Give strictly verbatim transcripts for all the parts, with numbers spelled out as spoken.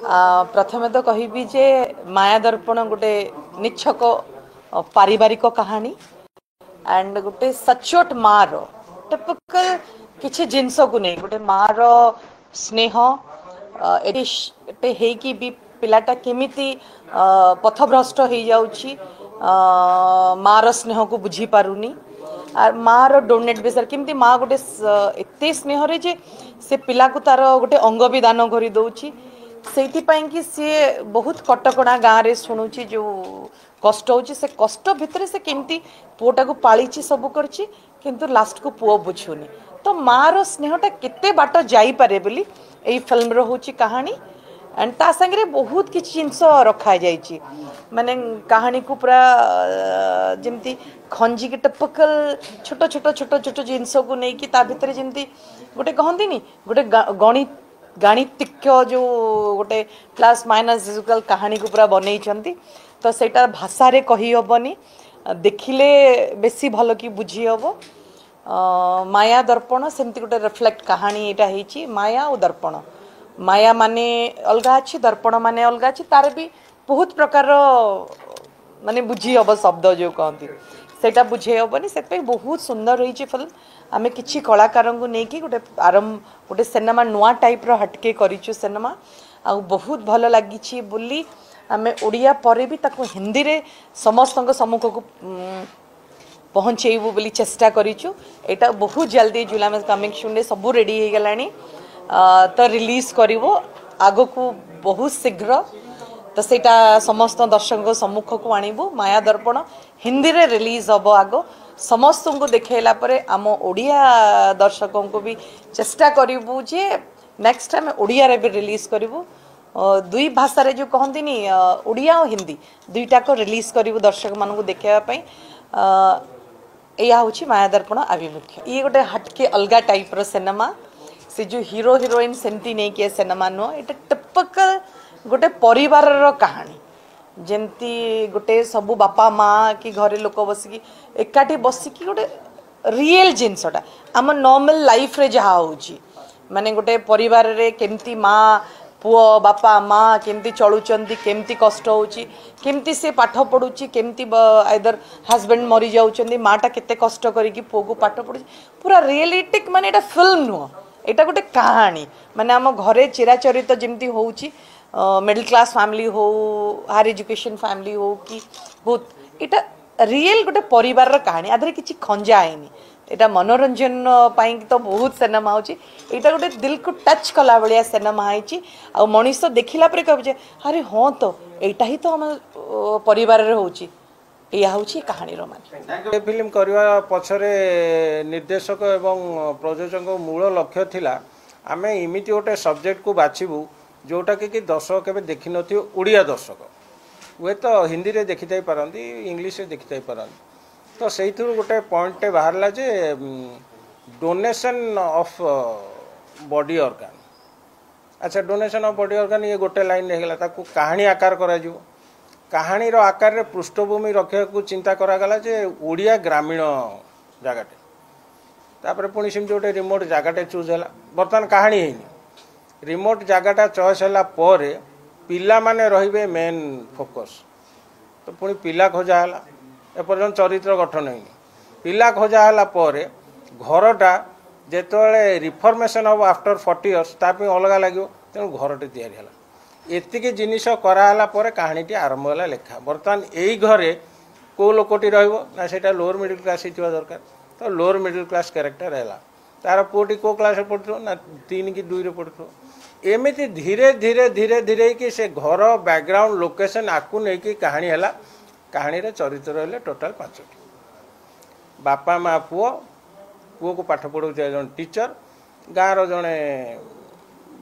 ପ୍ରଥମେ ତ କହିବି ଯେ ମାୟା ଦର୍ପଣ ଗୋଟେ ନିଚ୍ଛକ ପାରିବାରିକ କାହାଣୀ ଆଣ୍ଡ ଗୋଟେ ସଚୋଟ ମାର ଟିପିକାଲ କିଛି ଜିନିଷକୁ ନେଇ ଗୋଟେ ମାର ସ୍ନେହ ଏଠି ହେଇକି ବି ପିଲାଟା କେମିତି ପଥଭ୍ରଷ୍ଟ ହେଇଯାଉଛି ମାର ସ୍ନେହକୁ ବୁଝିପାରୁନି ଆର୍ ମାର ଡୋନେଟ୍ ବିଷୟରେ କେମିତି ମା ଗୋଟେ ଏତେ ସ୍ନେହରେ ଯେ ସେ ପିଲାକୁ ତାର ଗୋଟେ ଅଙ୍ଗ ବି ଦାନ କରିଦେଉଛି ସେଇଥିପାଇଁ କି ସିଏ ବହୁତ କଟକଣା ଗାଁରେ ଶୁଣୁଛି ଯେଉଁ କଷ୍ଟ ହେଉଛି ସେ କଷ୍ଟ ଭିତରେ ସେ କେମିତି ପୁଅଟାକୁ ପାଳିଛି ସବୁ କରିଛି କିନ୍ତୁ ଲାଷ୍ଟକୁ ପୁଅ ବୁଝୁନି ତ ମାର ସ୍ନେହଟା କେତେ ବାଟ ଯାଇପାରେ ବୋଲି ଏଇ ଫିଲ୍ମର ହେଉଛି କାହାଣୀ ଆଣ୍ଡ ତା ସାଙ୍ଗରେ ବହୁତ କିଛି ଜିନିଷ ରଖାଯାଇଛି ମାନେ କାହାଣୀକୁ ପୁରା ଯେମିତି ଖଞ୍ଜିକି ଟିପିକାଲ ଛୋଟ ଛୋଟ ଛୋଟ ଛୋଟ ଜିନିଷକୁ ନେଇକି ତା ଭିତରେ ଯେମିତି ଗୋଟେ କହନ୍ତିନି ଗୋଟେ ଗଣିତ ଗାଣିତିକ ଯେଉଁ ଗୋଟେ ପ୍ଲସ୍ ମାଇନସ୍ ଇକ୍ୱାଲ୍ କାହାଣୀକୁ ପୁରା ବନେଇଛନ୍ତି ତ ସେଇଟା ଭାଷାରେ କହିହେବନି ଦେଖିଲେ ବେଶୀ ଭଲ କି ବୁଝି ହେବ ମାୟା ଦର୍ପଣ ସେମିତି ଗୋଟେ ରିଫ୍ଲେକ୍ଟ କାହାଣୀ ଏଇଟା ହେଇଛି ମାୟା ଆଉ ଦର୍ପଣ ମାୟା ମାନେ ଅଲଗା ଅଛି ଦର୍ପଣ ମାନେ ଅଲଗା ଅଛି ତାର ବି ବହୁତ ପ୍ରକାରର ମାନେ ବୁଝି ହେବ ଶବ୍ଦ ଯେଉଁ କହନ୍ତି ସେଇଟା ବୁଝେଇ ହେବନି ସେଥିପାଇଁ ବହୁତ ସୁନ୍ଦର ହେଇଛି ଫିଲ୍ମ ଆମେ କିଛି କଳାକାରଙ୍କୁ ନେଇକି ଗୋଟେ ଆରମ୍ଭ ଗୋଟେ ସିନେମା ନୂଆ ଟାଇପ୍ର ହଟକେ କରିଛୁ ସିନେମା ଆଉ ବହୁତ ଭଲ ଲାଗିଛି ବୋଲି ଆମେ ଓଡ଼ିଆ ପରେ ବି ତାକୁ ହିନ୍ଦୀରେ ସମସ୍ତଙ୍କ ସମ୍ମୁଖକୁ ପହଞ୍ଚେଇବୁ ବୋଲି ଚେଷ୍ଟା କରିଛୁ ଏଇଟା ବହୁତ ଜଲ୍ଦି ଜୁଲାଇ ମାସ କମିଂ ସୁନ୍ରେ ସବୁ ରେଡ଼ି ହେଇଗଲାଣି ତ ରିଲିଜ୍ କରିବୁ ଆଗକୁ ବହୁତ ଶୀଘ୍ର ତ ସେଇଟା ସମସ୍ତ ଦର୍ଶକଙ୍କ ସମ୍ମୁଖକୁ ଆଣିବୁ ମାୟା ଦର୍ପଣ ହିନ୍ଦୀରେ ରିଲିଜ୍ ହେବ ଆଗ ସମସ୍ତଙ୍କୁ ଦେଖେଇଲା ପରେ ଆମ ଓଡ଼ିଆ ଦର୍ଶକଙ୍କୁ ବି ଚେଷ୍ଟା କରିବୁ ଯେ ନେକ୍ସଟ ଆମେ ଓଡ଼ିଆରେ ବି ରିଲିଜ୍ କରିବୁ ଦୁଇ ଭାଷାରେ ଯେଉଁ କହନ୍ତିନି ଓଡ଼ିଆ ଆଉ ହିନ୍ଦୀ ଦୁଇଟାକ ରିଲିଜ୍ କରିବୁ ଦର୍ଶକମାନଙ୍କୁ ଦେଖେଇବା ପାଇଁ ଏଇଆ ହେଉଛି ମାୟା ଦର୍ପଣ ଆଭିମୁଖ୍ୟ ଇଏ ଗୋଟେ ହଟକେ ଅଲଗା ଟାଇପ୍ର ସିନେମା ସେ ଯେଉଁ ହିରୋ ହିରୋଇନ୍ ସେମିତି ନେଇକି ଏ ସିନେମା ନୁହଁ ଏଇଟା ଟିପିକାଲ ଗୋଟେ ପରିବାରର କାହାଣୀ ଯେମିତି ଗୋଟେ ସବୁ ବାପା ମା କି ଘରେ ଲୋକ ବସିକି ଏକାଠି ବସିକି ଗୋଟେ ରିଏଲ୍ ଜିନିଷଟା ଆମ ନର୍ମାଲ ଲାଇଫରେ ଯାହା ହେଉଛି ମାନେ ଗୋଟେ ପରିବାରରେ କେମିତି ମା ପୁଅ ବାପା ମା କେମିତି ଚଳୁଛନ୍ତି କେମିତି କଷ୍ଟ ହେଉଛି କେମିତି ସେ ପାଠ ପଢ଼ୁଛି କେମିତି ଆଇଦର ହଜବେଣ୍ଡ ମରିଯାଉଛନ୍ତି ମାଟା କେତେ କଷ୍ଟ କରିକି ପୁଅକୁ ପାଠ ପଢ଼ୁଛି ପୁରା ରିଏଲିଟିକ୍ ମାନେ ଏଇଟା ଫିଲ୍ମ ନୁହଁ ଏଇଟା ଗୋଟେ କାହାଣୀ ମାନେ ଆମ ଘରେ ଚିରାଚରିତ ଯେମିତି ହେଉଛି ମିଡଲ୍ କ୍ଲାସ୍ ଫ୍ୟାମିଲି ହଉ ହାୟର ଏଜୁକେସନ୍ ଫ୍ୟାମିଲି ହଉ କି ବହୁତ ଏଇଟା ରିଏଲ୍ ଗୋଟେ ପରିବାରର କାହାଣୀ ଆ ଦେହରେ କିଛି ଖଞ୍ଜା ହେଇନି ଏଇଟା ମନୋରଞ୍ଜନ ପାଇଁ ତ ବହୁତ ସିନେମା ହେଉଛି ଏଇଟା ଗୋଟେ ଦିଲକୁ ଟଚ୍ କଲା ଭଳିଆ ସିନେମା ହେଇଛି ଆଉ ମଣିଷ ଦେଖିଲା ପରେ କହିବ ଯେ ଆରେ ହଁ ତ ଏଇଟା ହିଁ ତ ଆମ ପରିବାରରେ ହେଉଛି ଏଇଆ ହେଉଛି କାହାଣୀର ମାନେ ଏ ଫିଲ୍ମ କରିବା ପଛରେ ନିର୍ଦ୍ଦେଶକ ଏବଂ ପ୍ରଯୋଜକଙ୍କ ମୂଳ ଲକ୍ଷ୍ୟ ଥିଲା ଆମେ ଏମିତି ଗୋଟେ ସବଜେକ୍ଟକୁ ବାଛିବୁ ଯେଉଁଟାକି କି ଦର୍ଶକ କେବେ ଦେଖିନଥିବେ ଓଡ଼ିଆ ଦର୍ଶକ ହୁଏତ ହିନ୍ଦୀରେ ଦେଖିଥାଇ ପାରନ୍ତି ଇଂଲିଶରେ ଦେଖିଥାଇ ପାରନ୍ତି ତ ସେଇଥିରୁ ଗୋଟେ ପଏଣ୍ଟଟେ ବାହାରିଲା ଯେ ଡୋନେସନ୍ ଅଫ୍ ବଡି ଅର୍ଗାନ୍ ଆଚ୍ଛା ଡୋନେସନ୍ ଅଫ୍ ବଡି ଅର୍ଗାନ୍ ଇଏ ଗୋଟେ ଲାଇନ୍ ହେଇଗଲା ତାକୁ କାହାଣୀ ଆକାର କରାଯିବ କାହାଣୀର ଆକାରରେ ପୃଷ୍ଠଭୂମି ରଖିବାକୁ ଚିନ୍ତା କରାଗଲା ଯେ ଓଡ଼ିଆ ଗ୍ରାମୀଣ ଜାଗାଟେ ତାପରେ ପୁଣି ସେମିତି ଗୋଟେ ରିମୋଟ୍ ଜାଗାଟେ ଚୁଜ୍ ହେଲା ବର୍ତ୍ତମାନ କାହାଣୀ ହେଇନି ରିମୋଟ୍ ଜାଗାଟା ଚଏସ୍ ହେଲା ପରେ ପିଲାମାନେ ରହିବେ ମେନ୍ ଫୋକସ୍ ତ ପୁଣି ପିଲା ଖୋଜା ହେଲା ଏପର୍ଯ୍ୟନ୍ତ ଚରିତ୍ର ଗଠନ ହେଇନି ପିଲା ଖୋଜା ହେଲା ପରେ ଘରଟା ଯେତେବେଳେ ରିଫର୍ମେସନ୍ ହେବ ଆଫ୍ଟର ଫର୍ଟି ଇୟର୍ସ ତା ପାଇଁ ଅଲଗା ଲାଗିବ ତେଣୁ ଘରଟି ତିଆରି ହେଲା ଏତିକି ଜିନିଷ କରାହେଲା ପରେ କାହାଣୀଟି ଆରମ୍ଭ ହେଲା ଲେଖା ବର୍ତ୍ତମାନ ଏଇ ଘରେ କେଉଁ ଲୋକଟି ରହିବ ନା ସେଇଟା ଲୋଅର ମିଡ଼ିଲ୍ କ୍ଲାସ୍ ହେଇଥିବା ଦରକାର ତ ଲୋଅର ମିଡ଼ିଲ୍ କ୍ଲାସ୍ କ୍ୟାରେକ୍ଟର ହେଲା ତାର ପୁଅଟି କେଉଁ କ୍ଲାସ୍ରେ ପଢ଼ୁଥିବ ନା ତିନି କି ଦୁଇରେ ପଢ଼ୁଥିବ ଏମିତି ଧୀରେ ଧୀରେ ଧୀରେ ଧୀରେ କି ସେ ଘର ବ୍ୟାକଗ୍ରାଉଣ୍ଡ ଲୋକେସନ୍ ଆକୁ ନେଇକି କାହାଣୀ ହେଲା କାହାଣୀରେ ଚରିତ୍ର ହେଲେ ଟୋଟାଲ୍ ପାଞ୍ଚଟି ବାପା ମା ପୁଅ ପୁଅକୁ ପାଠ ପଢ଼ାଉଥିବା ଜଣେ ଟିଚର ଗାଁର ଜଣେ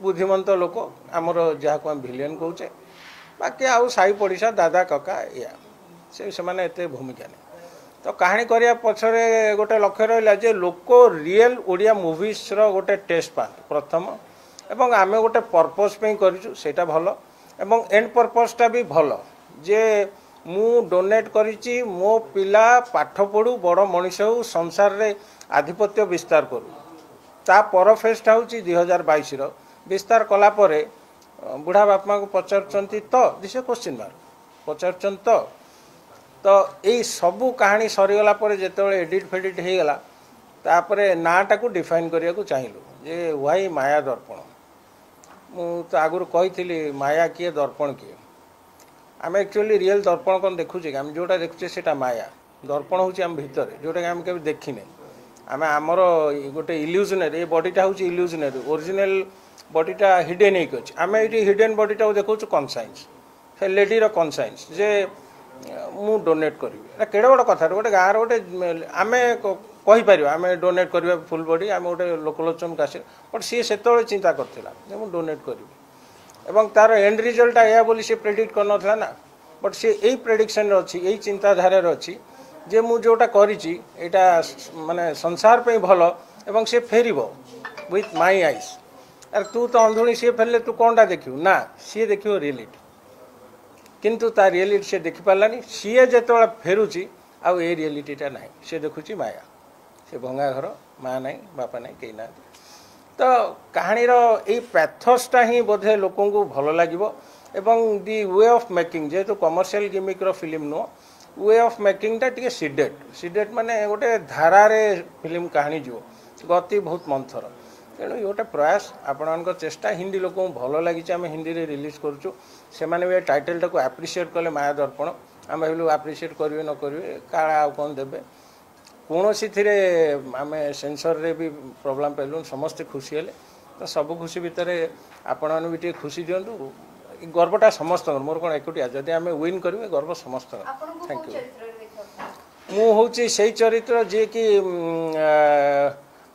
ବୁଦ୍ଧିମନ୍ତ ଲୋକ ଆମର ଯାହାକୁ ଆମେ ଭିଲିୟନ କହୁଛେ ବାକି ଆଉ ସାହି ପଡ଼ିଶା ଦାଦା କକା ଏଇଆ ସେ ସେମାନେ ଏତେ ଭୂମିକା ନେଇ ତ କାହାଣୀ କରିବା ପଛରେ ଗୋଟେ ଲକ୍ଷ୍ୟ ରହିଲା ଯେ ଲୋକ ରିଏଲ୍ ଓଡ଼ିଆ ମୁଭିସ୍ର ଗୋଟେ ଟେଷ୍ଟ ପାଆନ୍ତୁ ପ୍ରଥମ ଏବଂ ଆମେ ଗୋଟେ ପର୍ପଜ୍ ପାଇଁ କରିଛୁ ସେଇଟା ଭଲ ଏବଂ ଏଣ୍ଡ ପର୍ପଜ୍ଟା ବି ଭଲ ଯେ ମୁଁ ଡୋନେଟ୍ କରିଛି ମୋ ପିଲା ପାଠ ପଢ଼ୁ ବଡ଼ ମଣିଷ ହେଉ ସଂସାରରେ ଆଧିପତ୍ୟ ବିସ୍ତାର କରୁ ତା ପର ଫେଜ୍ଟା ହେଉଛି ଦୁଇ ହଜାର ବାଇଶର ବିସ୍ତାର କଲା ପରେ ବୁଢ଼ା ବାପା ମାଆକୁ ପଚାରୁଛନ୍ତି ତ this a question mark ପଚାରୁଛନ୍ତି ତ ତ ଏଇ ସବୁ କାହାଣୀ ସରିଗଲା ପରେ ଯେତେବେଳେ ଏଡ଼ିଟ୍ ଫେଡ଼ିଟ୍ ହେଇଗଲା ତାପରେ ନାଁଟାକୁ ଡିଫାଇନ୍ କରିବାକୁ ଚାହିଁଲୁ ଯେ ୱାଇ ମାୟା ଦର୍ପଣ ମୁଁ ତ ଆଗରୁ କହିଥିଲି ମାୟା କିଏ ଦର୍ପଣ କିଏ ଆମେ ଆକ୍ଚୁଆଲି ରିଏଲ୍ ଦର୍ପଣ କ'ଣ ଦେଖୁଛେ କି ଆମେ ଯେଉଁଟା ଦେଖୁଛେ ସେଇଟା ମାୟା ଦର୍ପଣ ହେଉଛି ଆମ ଭିତରେ ଯେଉଁଟାକି ଆମେ କେବେ ଦେଖିନେ ଆମେ ଆମର ଗୋଟେ ଇଲ୍ୟୁଜନାରୀ ଏ ବଡ଼ିଟା ହେଉଛି ଇଲ୍ୟୁଜନାରୀ ଓରିଜିନାଲ ବଡ଼ିଟା ହିଡେନ୍ ହେଇକି ଅଛି ଆମେ ଏଇଠି ହିଡେନ୍ ବଡ଼ିଟାକୁ ଦେଖାଉଛୁ କନସାଇନ୍ସ ସେ ଲେଡ଼ିର କନସାଇନ୍ସ ଯେ ମୁଁ ଡୋନେଟ୍ କରିବି ଏଇଟା କେଡ଼େ ବଡ଼ କଥା ଗୋଟେ ଗାଁର ଗୋଟେ ଆମେ କହିପାରିବା ଆମେ ଡୋନେଟ୍ କରିବା ଫୁଲ୍ ବଡ଼ି ଆମେ ଗୋଟେ ଲୋକଲୋଚନକୁ ଆସିବା ବଟ୍ ସିଏ ସେତେବେଳେ ଚିନ୍ତା କରିଥିଲା ଯେ ମୁଁ ଡୋନେଟ୍ କରିବି ଏବଂ ତାର ଏଣ୍ଡ ରିଜଲ୍ଟଟା ଏହା ବୋଲି ସେ ପ୍ରେଡ଼ିକ୍ଟ କରିନଥିଲା ନା ବଟ୍ ସିଏ ଏଇ ପ୍ରେଡ଼ିକ୍ସନରେ ଅଛି ଏଇ ଚିନ୍ତାଧାରାରେ ଅଛି ଯେ ମୁଁ ଯେଉଁଟା କରିଛି ଏଇଟା ମାନେ ସଂସାର ପାଇଁ ଭଲ ଏବଂ ସେ ଫେରିବ ୱିଥ୍ my ice ଆରେ ତୁ ତ ଅନ୍ଧୁଣୀ ସିଏ ଫେରିଲେ ତୁ କ'ଣଟା ଦେଖିବୁ ନା ସିଏ ଦେଖିବ ରିଏଲିଟି କିନ୍ତୁ ତା ରିଏଲିଟି ସେ ଦେଖିପାରିଲାନି ସିଏ ଯେତେବେଳେ ଫେରୁଛି ଆଉ ଏ ରିଏଲିଟିଟା ନାହିଁ ସେ ଦେଖୁଛି ମାୟା ସେ ଭଙ୍ଗା ଘର ମା ନାହିଁ ବାପା ନାହିଁ କେହି ନାହାନ୍ତି ତ କାହାଣୀର ଏଇ ପ୍ୟାଥସ୍ଟା ହିଁ ବୋଧେ ଲୋକଙ୍କୁ ଭଲ ଲାଗିବ ଏବଂ ଦି we of making ଯେହେତୁ କମର୍ସିଆଲ ଗିମିକ୍ର ଫିଲ୍ମ ନୁହଁ we of ମେକିଂଟା ଟିକେ ସିଡେଟ୍ ସିଡେଟ୍ ମାନେ ଗୋଟେ ଧାରାରେ ଫିଲ୍ମ କାହାଣୀ ଯିବ ଗତି ବହୁତ ମନ୍ଥର ତେଣୁ ଇଏ ଗୋଟେ ପ୍ରୟାସ ଆପଣମାନଙ୍କ ଚେଷ୍ଟା ହିନ୍ଦୀ ଲୋକଙ୍କୁ ଭଲ ଲାଗିଛି ଆମେ ହିନ୍ଦୀରେ ରିଲିଜ୍ କରୁଛୁ ସେମାନେ ବି ଏ ଟାଇଟେଲଟାକୁ ଆପ୍ରିସିଏଟ୍ କଲେ ମାୟା ଦର୍ପଣ ଆମେ ଭାବିଲୁ ଆପ୍ରିସିଏଟ୍ କରିବେ ନ କରିବେ କାଳେ ଆଉ କ'ଣ ଦେବେ କୌଣସିଥିରେ ଆମେ ସେନ୍ସରରେ ବି ପ୍ରୋବ୍ଲେମ୍ ପାଇଲୁନି ସମସ୍ତେ ଖୁସି ହେଲେ ତ ସବୁ ଖୁସି ଭିତରେ ଆପଣମାନେ ବି ଟିକେ ଖୁସି ଦିଅନ୍ତୁ ଏ ଗର୍ବଟା ସମସ୍ତଙ୍କର ମୋର କ'ଣ ଏକୁଟିଆ ଯଦି ଆମେ ୱିନ୍ କରିବୁ ଏ ଗର୍ବ ସମସ୍ତଙ୍କର ଆପଣଙ୍କୁ thank କୋଉ you ଚରିତ୍ରରେ ଦେଖିବାକୁ ମୁଁ ହେଉଛି ସେଇ ଚରିତ୍ର ଯିଏକି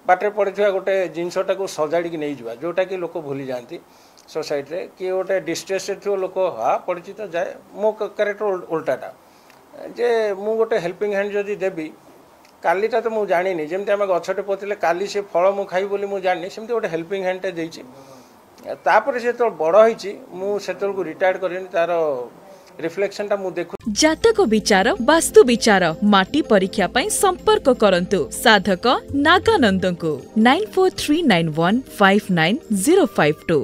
ବାଟରେ ପଡ଼ିଥିବା ଗୋଟେ ଜିନିଷଟାକୁ ସଜାଡ଼ିକି ନେଇଯିବା ଯେଉଁଟାକି ଲୋକ ଭୁଲି ଯାଆନ୍ତି ସୋସାଇଟିରେ କିଏ ଗୋଟେ ଡିଷ୍ଟ୍ରେସ୍ରେ ଥିବ ଲୋକ ହଁ ପଡ଼ିଛି ତ ଯାଏ ମୋ କ୍ୟାରେକ୍ଟର ଓଲଟାଟା ଯେ ମୁଁ ଗୋଟେ ହେଲ୍ପିଂ ହ୍ୟାଣ୍ଡ ଯଦି ଦେବି କାଲିଟା ତ ମୁଁ ଜାଣିନି ଯେମିତି ଆମେ ଗଛଟେ ପୋତିଲେ କାଲି ସେ ଫଳ ମୁଁ ଖାଇବି ବୋଲି ମୁଁ ଜାଣିନି ସେମିତି ଗୋଟେ ହେଲ୍ପିଂ ହ୍ୟାଣ୍ଡଟେ ଦେଇଛି ତାପରେ ସେ ଯେତେବେଳେ ବଡ଼ ହେଇଛି ମୁଁ ସେତେବେଳକୁ ରିଟାୟାର୍ଡ଼ କରିନି ତାର ରିଫ୍ଲେକ୍ସନଟା ମୁଁ ଦେଖୁ ଜାତକ ବିଚାର ବାସ୍ତୁ ବିଚାର ମାଟି ପରୀକ୍ଷା ପାଇଁ ସମ୍ପର୍କ କରନ୍ତୁ ସାଧକ ନାଗାନନ୍ଦଙ୍କୁ nine four three nine one five nine zero five two